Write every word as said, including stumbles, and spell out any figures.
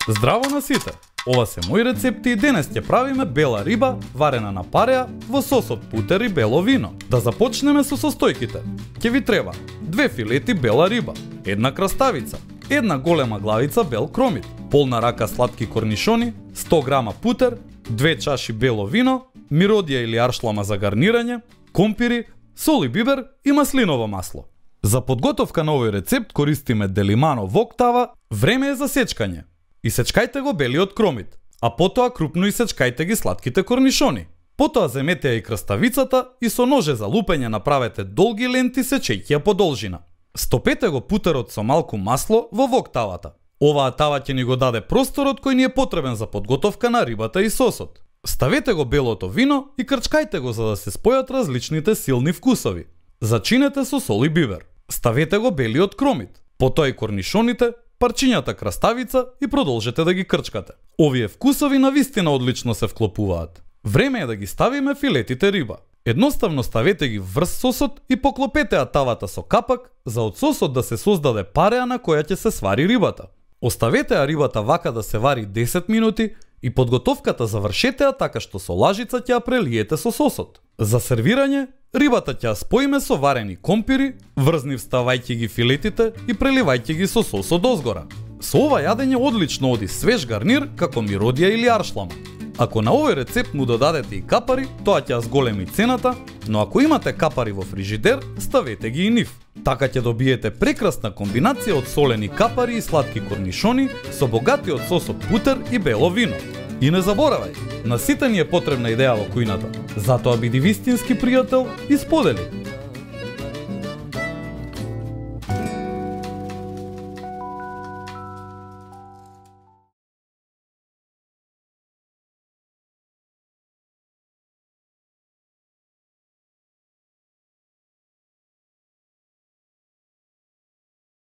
Здраво на сите! Ова се мои рецепти и денес ќе правиме бела риба варена на пареа во сос од путер и бело вино. Да започнеме со состојките. Ќе ви треба две филети бела риба, една краставица, една голема главица бел кромит, полна рака сладки корнишони, сто грама путер, две чаши бело вино, миродија или аршлама за гарнирање, компири, сол и бибер и маслиново масло. За подготовка на овој рецепт користиме делимано вок тава, време е за сечкање. Исечкајте го белиот кромит, а потоа крупно исечкајте ги сладките корнишони. Потоа земете ја и краставицата и со ноже за лупење направете долги ленти сечејќи ја по должина. Стопете го путерот со малку масло во вок тавата. Оваа тава ќе ни го даде просторот кој ни е потребен за подготовка на рибата и сосот. Ставете го белото вино и крчкајте го за да се спојат различните силни вкусови. Зачинете со сол и бибер. Ставете го белиот кромит, потоа и корнишоните, парчињата краставица и продолжете да ги крчкате. Овие вкусови навистина одлично се вклопуваат. Време е да ги ставиме филетите риба. Едноставно ставете ги врз сосот и поклопете ја тавата со капак за од сосот да се создаде пареа на која ќе се свари рибата. Оставете ја рибата вака да се вари десет минути и подготовката завршете ја така што со лажица ќе ја прелиете со сосот. За сервирање, рибата ќе ја споиме со варени компири, врзнив ставајќи ги филетите и преливајќи ги со сосот дозгора. Со ова јадење одлично оди свеж гарнир како миродија или аршлама. Ако на овој рецепт му додадете и капари, тоа ќе ја зголеми цената, но ако имате капари во фрижидер, ставете ги и нив. Така ќе добиете прекрасна комбинација од солени капари и сладки корнишони со богатиот сос од путер и бело вино. И не заборавај, на сите ни е потребна идеја во кујната. Затоа биди вистински пријател и сподели.